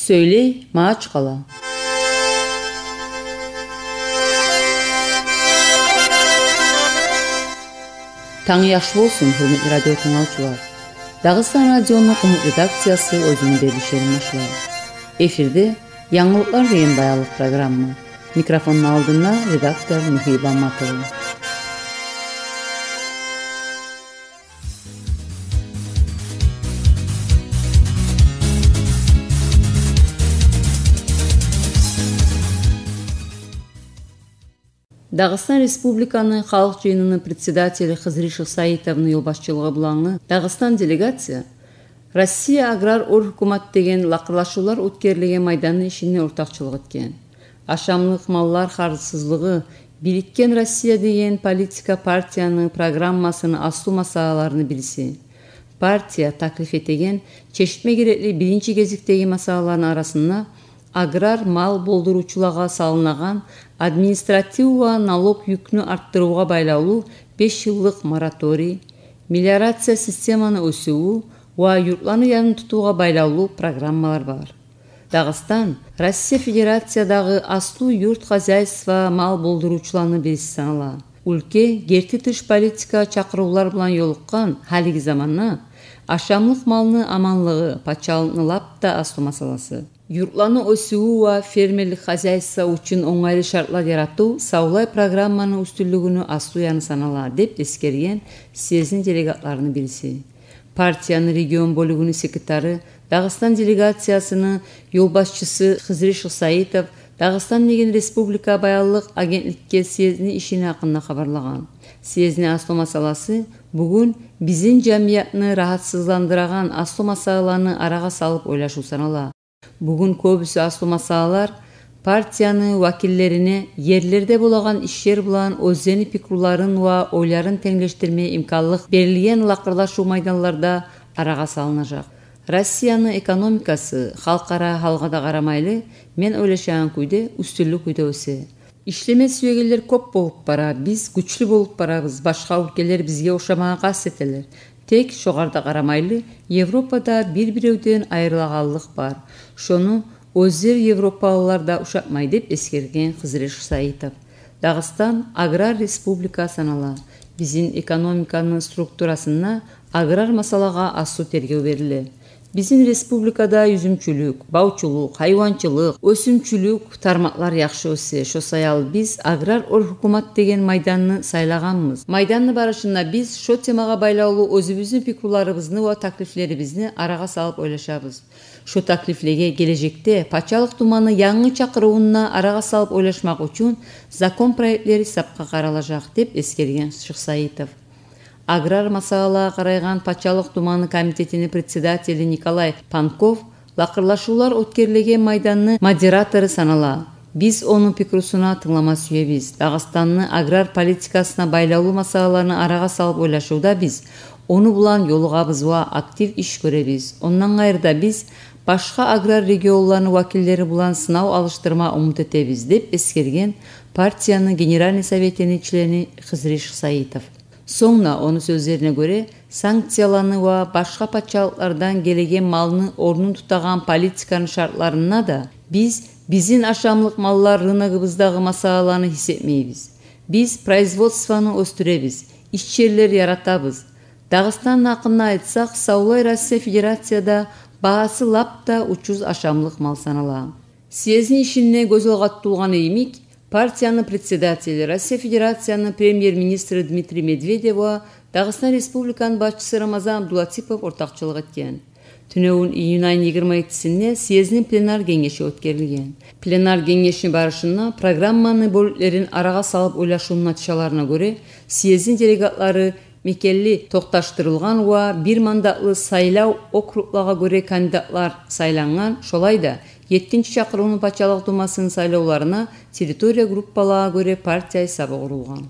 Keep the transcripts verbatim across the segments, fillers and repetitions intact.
Сёйлей Магьачкъала. Танг яхшы болсун, гьюрметли радио тынглавчулар. Дагъыстан радиону къумукъ редакциясы оьзюню берилишин башлай. Эфирде «Янгылыкълар» деген баянлыкъ программа. Микрофонну алдында редактор Михаил Баматов. Дагъыстан Республиканы Халкъ Жыйынны председатели Хизри Шихсаитовну ёлбашчылыгъы булангъы Дагъыстан делегация «Россия аграр оьр гьукумат» деген лакъырлашывлар оьтгерилеген майданны ишине ортакъчылыкъ этген. Ашамлыкъ маллар харжсызлыгъы, бирикген Россия деген политика партияны программасыны аслу масъалаларыны бириси. Партия таклиф этеген чечме герекли биринчи гезикдеги масъалаланы арасында аграр мал болдурувчулагъа салынагъан административ ва налог юкню артдырывгъа байлавлу беш йыллыкъ мораторий, мелиорация системаны оьсювю ва юртланы янын тутувгъа байлавлу программалар бар. Дагъыстан Россия Федерациядагъы аслу юрт хозяйство мал болдурувчуланы бириси санала. Уьлке герти тыш политика чакъырывлар булан ёлукъгъан гьалиги заманда ашамлыкъ малны аманлыгъы пачалыкъны лап да аслу масъаласы. Юртланы оьсювю ва фермерлик хозяйство учун онгайлы шартлар яратыв савлай программаны уьстюнлюгюню аслу яны санала, деп эсгерген съездни делегатларыны бириси. Партияны регион бёлюгюню секретары, Дагъыстан делегациясыны ёлбашчысы Хизри Шихсаитов «Дагъыстан» деген республика баянлыкъ агентликге съездни ишини гьакъында хабарлагъан. Съездни аслу масъаласы бугюн бизин жамиятны рагьатсызландырагъан аслу масъалаланы арагъа салып ойлашыв санала. Бугюн кёбюсю аслу масъалалар партияны вакиллерине ерлерде болагъан ишлер булан оьзлени пикруларын ва ойларын тенглешдирме имканлыкъ берилген лакъырлашыв майданларда арагъа салынажакъ. Россияны экономикасы, халкъара гьалгъа да къарамайлы, мен ойлашагъан кюйде, уьстюнлю кюйде оьсе. Ишлеме сюегенлер кёп болуп бара, биз гючлю болуп барабыз, башгъа уьлкелер бизге ошамагъа къаст этелер. Тек шогъар да къарамайлы, Европада бир-биревден айрылагъанлыкъ бар. Шону оьзлер, европалылар да, ушатмай, деп эсгерген Хизри Шихсаитов. Дагъыстан аграр республика санала. Бизин экономиканы структурасында аграр масъалагъа аслу тергев бериле. Бизин республикада юзюмчюлюк, бавчулукъ, гьайванчылыкъ, оьсюмчюлюк тармакълар яхшы оьсе. Шо саялы биз аграр оьр гьукумат деген майданны сайлагъанбыз. Майданны барышында биз шо темагъа байлавлу оьзюбюзню пикруларыбызны ва таклифлерибизни арагъа салып ойлашабыз. Шо таклифлеге гележекде Пачалыкъ Думаны янгы чакъырывунда арагъа салып ойлашмакъ учун закон проектлери сапгъа къаралажакъ, деп эсгерген Шихсаитов. Аграр масъалагъа къарайгъан Пачалыкъ Думаны комитетини председатели Николай Панков лакъырлашывлар оьтгерилеген майданны модератору санала. Биз ону пикрусуна тынглама сюебиз. Дагъыстанны аграр политикасына байлавлу масъалаланы арагъа салып ойлашывда биз ону булан ёлугъабыз ва актив иш гёребиз. Ондан къайры да биз башгъа аграр регионланы вакиллери булан сынав алышдырма умут этебиз, деп эсгерген партияны Генеральный советини члени Хизри Шихсаитов. Сонг да, ону сёзлерине гёре, санкцияланы ва башгъа пачалыкълардан гелеген малны орнун тутагъан политиканы шартларында да биз бизин ашамлыкъ маллар рыногубуздагъы масъалаланы гьис этмейбиз. Биз производствону оьсдюребиз, иш ерлер яратабыз. Дагъыстан гьакъында айтсакъ, савлай Россия Федерацияда багьасы лап да учуз ашамлыкъ мал санала. Съездни ишинде гёз алгъа тутулгъаны йимик, партияны председатели, Россия Федерацияны премьер-министри Дмитрий Медведев ва Дагъыстан Республиканы башчысы Рамазан Абдулатипов ортакъчылыкъ этген. Тюнегюн, июнь айны йигирма еттисинде, съездни пленар генгеши оьтгерилген. Пленар генгешни барышында программаны бёлюклерин арагъа салып ойлашывну натижаларына гёре, съездни делегатлары мекенли токъташдырылгъан ва бир мандатлы сайлав округлагъа гёре кандидатлар сайлангъан. Шолай да, еттинчи чакъырывну Пачалыкъ Думасыны сайлавларына территория группалагъа гёре партия гьисабы къурулгъан.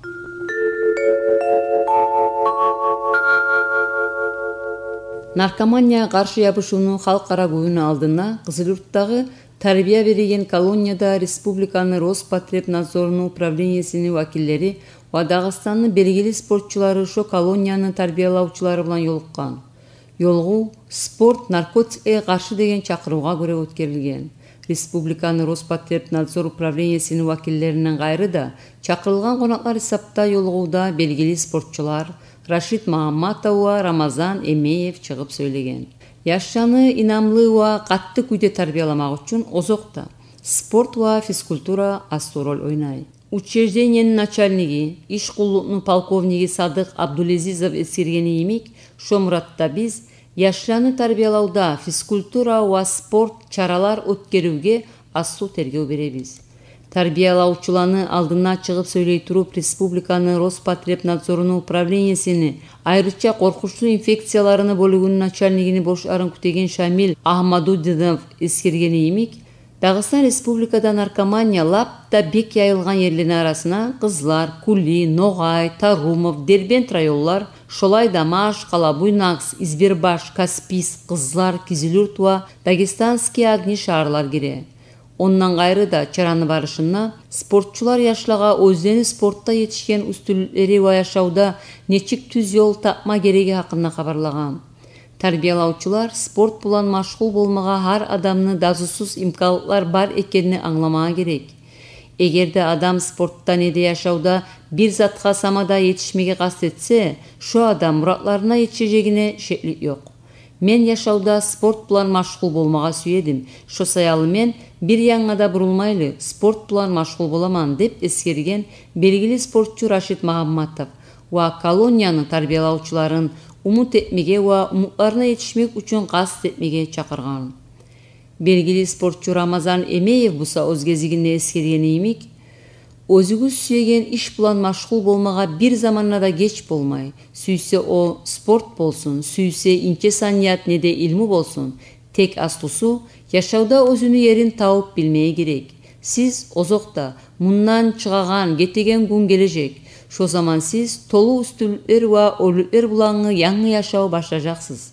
Наркоманиягъа къаршы ябушувну халкъара гюнюню алдында Къызылюртдагъы тарбия береген колонияда республиканы Роспотребнадзорну управлениясыны вакиллери ва Дагъыстанны белгили спортчулары шо колонияны тарбиялавчулары булан ёлукъгъан. Ёлугъув «Спорт наркотикге къаршы» деген чакъырывгъа гёре оьтгерилген. Республиканы Роспотребнадзор управлениесини вакиллеринден къайры да, чакъырылгъан къонакълар гьисапда ёлугъувда белгили спортчулар Рашид Магьамматов ва Рамазан Эмеев чыгъып сёйлеген. Яшланы инамлы ва къатты кюйде тарбияламакъ учун озокъда, спорт ва физкультура аслу роль ойнай. Учреждениени начальниги, иш къуллукъну полковниги Садыкъ Абдулезизов эсгергени йимик, шо муратда биз яшланы тарбиялавда физкультура ва спорт чаралар оьтгеривге аслу тергев беребиз. Тарбиялавчуланы алдына чыгъып сёйлей туруп, республиканы Роспотребнадзоруну управлениесини айрыча къоркъунчлу инфекцияларыны бёлюгюню начальнигини борчларын кютеген Шамиль Агьмадудинов эсгергени йимик, Дагъыстан Республикада наркомания лап да бек яйылгъан ерлени арасына Къызлар, Кули, Ногъай, Тарумов, Дербент районлар, шолай да Машкъала, Буйнакск, Избербаш, Каспийск, Къызлар, Кизилюрт ва Дагестанские огни шагьарлар гире. Ондан къайры да, чараны барышында спортчулар яшлагъа оьзлени спортда етишген уьстюнлюклери ва яшавда нечик тюз ёл тапма герегини гьакъында хабарлагъан. Тарбиялавчулар спорт булан машгъул болмагъа гьар адамны дазусуз имканлыкълар бар экенни англамагъа герек. Эгер де адам спортда не де яшавда бир затгъа сама да етишмеге къаст этсе, шо адам муратларына етишежегине шеклик ёкъ. «Мен яшавда спорт булан машгъул болмагъа сюедим. Шо саялы мен бир янгъа да бурулмайлы спорт булан машгъул боламан», — деп эсгерген белгили спортчу Рашид Магьамматов ва колонияны тарбиялавчуларын умут этмеге ва умутларына етишмек учун къаст этмеге чакъыргъан. Белгили спортчу Рамазан Эмеев буса оьз гезигинде эсгергени йимик, оьзюгюз сюеген иш булан машгъул болмагъа бир заманда да геч болмай. Сюйсе о спорт болсун, сюйсе инче саният не де илму болсун, тек аслусу яшавда оьзюню ерин табып билмеге герек. Сиз озокъда, мундан чыгъагъан, гетеген гюн гележек. Шо заман сиз толу уьстюнлюклер ва оьрлюклер булангъы янгы яшав башлажакъсыз.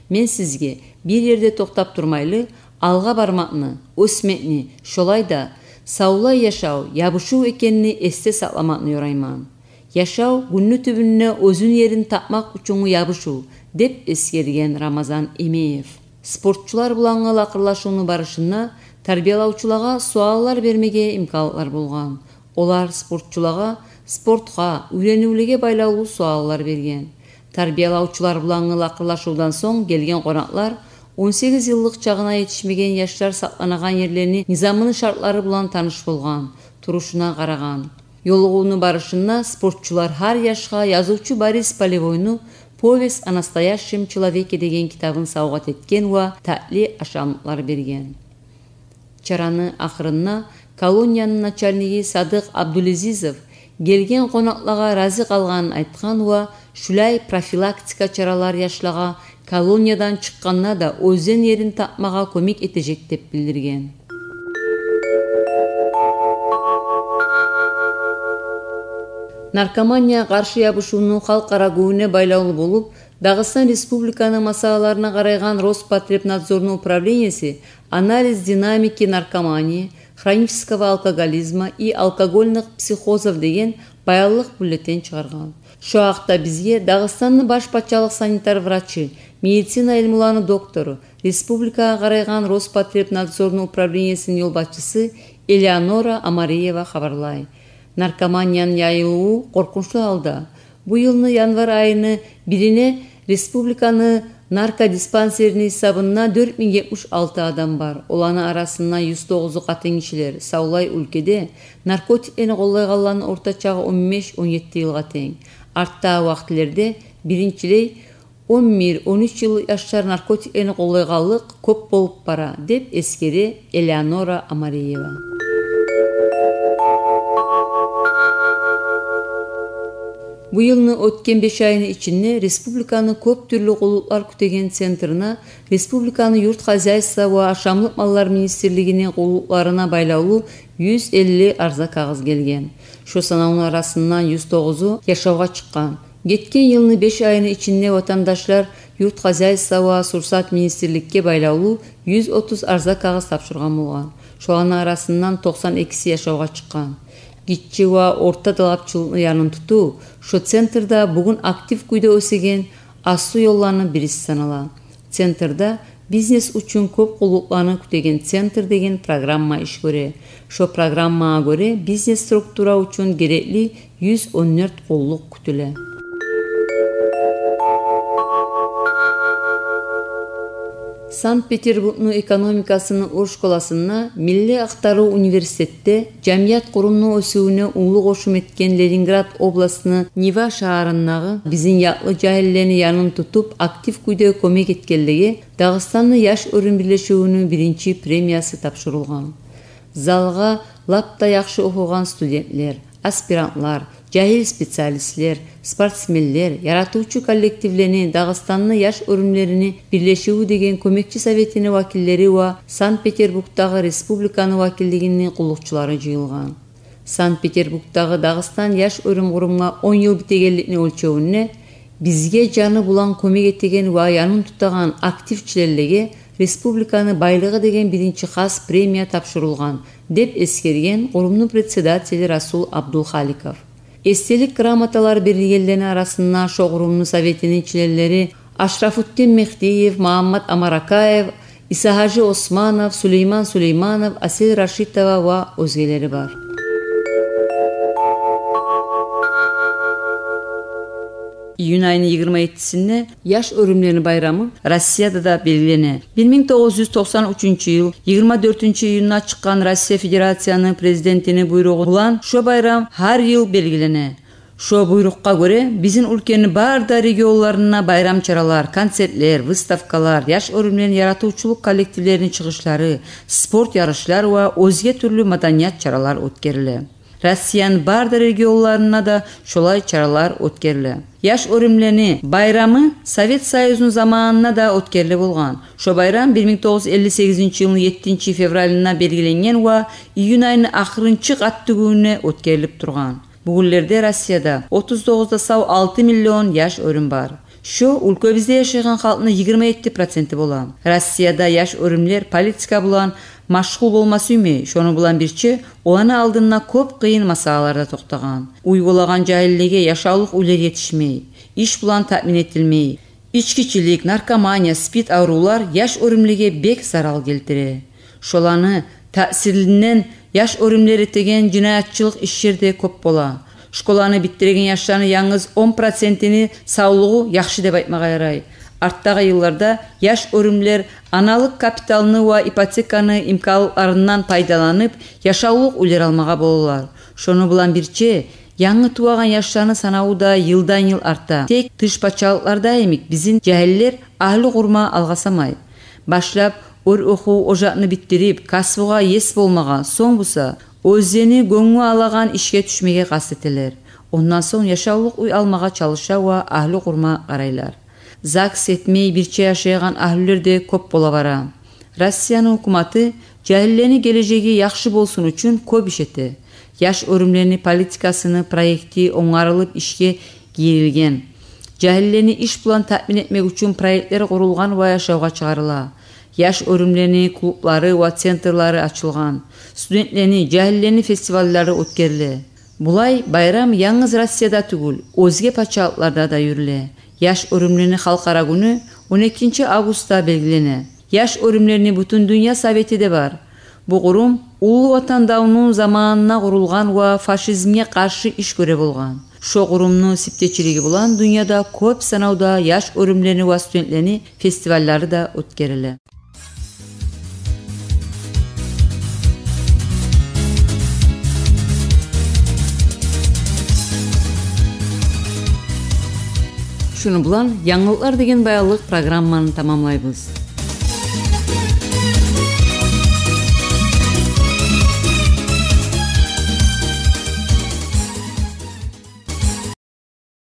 Мен сизге бир ерде токътап турмайлы, алгъа бармакъны, оьсмекни, шолай да савлай яшав ябушув экенни эсде сакъламакъны ёрайман. Яшав гюнню тюбюнде оьзюню ерин тапмакъ учунгу ябушув, — деп эсгерген Рамазан Эмеев. Спортчулар булангъы лакъырлашывну барышында тарбиялавчулагъа суаллар бермеге имканлыкълар болгъан. Олар спортчулагъа спортгъа, уьйренивлеге байлавлу суаллар берген. Тарбиялавчулар булангъы лакъырлашывдан сонг гелген къонакълар он сегиз йыллыкъ чагъына етишмеген яшлар сакъланагъан ерлени низамыны шартлары булан таныш болгъан, турушуна къарагъан. Ёлугъувну барышында спортчулар гьар яшгъа язывчу Борис Полевойну «Повесть о настоящем человеке» деген китабын савгъат этген ва татли ашамлыкълар берген. Чараны ахырында колонияны начальниги Садыкъ Абдулезизов гелген къонакълагъа рази къалгъанын айтгъан ва шулай профилактика чаралар яшлагъа колониядан чыкъгъанда да оьзлени ерин тапмагъа кёмек этежек деп билдирген. Наркомания къаршы ябушувну халкъара гюнюне байлавлу болуп, Дагъыстан Республиканы масъалаларына къарайгъан Роспотребнадзорну управлениеси «Анализ динамики наркомании, хронического алкоголизма и алкогольных психозов» деген баянлыкъ бюллетень чыгъаргъан. Шо гьакъда бизге Дагъыстанны баш пачалыкъ санитар врачы, медицина илмуланы доктору, республикагъа къарайгъан Роспотребнадзорну управлениесини ёлбашчысы Элеонора Омариева хабарлай. Наркоманияны яйылыву къоркъунчлу гьалда. Бу йылны январь айыны бирине республиканы наркодиспансерини гьисабында дёрт минг етмиш алты адам бар. Оланы арасында юз тогъузу къатынгишилер. Савлай уьлкеде наркотиклени къоллайгъанланы орта чагъы он беш — он етти йылгъа тенг. Артдагъы вакътилерде биринчилей он бир — он уьч йыл яшлар наркотиклени къоллайгъанлыкъ кёп болуп бара, деп эсгере Элеонора Омариева. Бу йылны оьтген беш айыны ичинде республиканы кёп тюрлю къуллукълар кютеген центрине республиканы юрт хозяйство ва ашамлыкъ маллар министрлигини къуллукъларына байлавлу юз элли арза кагъыз гелген. Шо санавну арасындан юз тогъузу яшавгъа чыкъгъан. Гетген йылны беш айыны ичинде ватандашлар юрт хозяйство ва сурсат министрликге байлавлу юз отуз арза кагъыз тапшургъан болгъан. Шоланы арасындан токъсан экиси яшавгъа чыкъгъан. Гиччи ва орта талапчылыкъны янын тутув, шо центрде бугюн актив кюйде оьсеген аслу ёлланы бириси санала. Центрда бизнес учун кёп къуллукъланы кютеген «Центр» деген программа иш гёре. Шо программагъа гёре, бизнес структура учун герекли юз он дёрт къуллукъ кютюле. Санкт-Петербургну экономикасыны оьр школасында, Милли ахтарыв университетде, жамият къурумну оьсювюне уллу къошум этген Ленинград областны Нива шагьарындагъы бизин якълы жагьиллени янын тутуп, актив кюйде кёмек этгенлеге Дагъыстанны яш оьрюм бирлешивюню биринчи премиясы тапшурулгъан. Залгъа лап да яхшы охугъан студентлер, аспирантлар, жагьил специалистлер, спортсменлер, яратывчу коллективлени, Дагъыстанны яш оьрюмлерини бирлешиви деген кёмекчи советини вакиллери ва Санкт-Петербургдагъы республиканы вакиллигини къуллукъчулары жыйылгъан. Санкт-Петербургдагъы Дагъыстан яш оьрюм къурумгъа он йыл битегенликни оьлчевюнде бизге жаны булан кёмек этеген ва янын тутагъан актив членлеге республиканы байлыгъы деген биринчи хас премия тапшурулгъан, деп эсгерген къурумну председатели Расул Абдулхаликов. Эсделик грамоталар берилгенлени арасында шо къурумну советини членлери Ашрафутдин Мехдиев, Магьаммат Амаракаев, Исагьажи Османов, Сулейман Сулейманов, Асел Рашитова ва оьзгелери бар. Июнь айны йигирма еттисинде яш оьрюмлени байрамы Россияда да белгилене. Бир минг тогъуз юз токъсан уьчюнчю йыл йигирма дёртюнчю июнда чыкъгъан Россия Федерацияны Президентини буйругъу булан шо байрам гьар йыл белгилене. Шо буйрукъгъа гёре, бизин уьлкени бары да регионларында байрам чаралар, концертлер, выставкалар, яш оьрюмлени яратывчулукъ коллективлерини чыгъышлары, спорт ярышлар ва оьзге тюрлю маданият чаралар оьтгериле. Россияны бары да регионларында да шолай чаралар оьтгериле. Яш оьрюмлени байрамы Совет Союзну заманында да оьтгериле болгъан. Шо байрам бир минг тогъуз юз элли сегизинчи йылны еттинчи февралында белгиленген ва июнь айны ахырынчы къатты гюнюне оьтгерилип тургъан. Бугюнлерде Россияда отуз тогъуз да сав алты миллион яш оьрюм бар. Шо уьлкебизде яшайгъан халкъны йигирма етти проценти бола. Россияда яш оьрюмлер политика булан машгъул болма сюймей, шону булан бирче оланы алдында кёп къыйын масъалалар да токътагъан. Уьй болагъан жагьиллеге яшавлукъ уьйлер етишмей, иш булан таъмин этилмей. Ичкичилик, наркомания, СПИД аврувлар яш оьрюмлеге бек зарал гелтире. Шоланы таъсиринден яш оьрюмлер этеген жинаятчылыкъ ишлер де кёп бола. Школаны битдиреген яшланы янгыз он процентини савлугъу яхшы деп айтмагъа ярай. Артдагъы йылларда яш оьрюмлер аналыкъ капиталны ва ипотеканы имканлыкъларындан пайдаланып, яшавлукъ уьйлер алмагъа болалар. Шону булан бирче, янгы тувагъан яшланы санаву да йылдан-йыл арта. Тек тыш пачалыкъларда йимик бизин жагьиллер агьлю къурма алгъасамай. Башлап оьр охув ожакъны битдирип, касбугъа ес болмагъа, сонг буса оьзлени гёнгю алагъан ишге тюшмеге къаст этелер. Ондан сонг яшавлукъ уьй алмагъа чалыша ва агьлю къурма къарайлар. ЗАГС этмей бирче яшайгъан агьлюлер де кёп бола бара. Россияны гьукуматы жагьиллени гележеги яхшы болсун учун кёп иш эте. Яш оьрюмлени политикасыны проекти онгарылып ишге гирилген. Жагьиллени иш булан таъмин этмек учун проектлер къурулгъан ва яшавгъа чыгъарыла. Яш оьрюмлени клублары ва центрлары ачылгъан. Студентлени, жагьиллени фестиваллары оьтгериле. Булай байрам янгыз Россияда тюгюл, оьзге пачалыкъларда да юрюле. Яш оьрюмлени халкъара гюню он экинчи августда белгилене. Яш оьрюмлени Бутундюнья совети де бар. Бу къурум Уллу Ватан давну заманына къурулгъан ва фашизмге къаршы иш гёре болгъан. Шо къурумну сиптечилиги булан дюньяда кёп санавда яш оьрюмлени ва студентлени фестиваллары да оьтгериле. Шуну булан «Янгылыкълар» деген баянлыкъ программаны тамамлайбыз.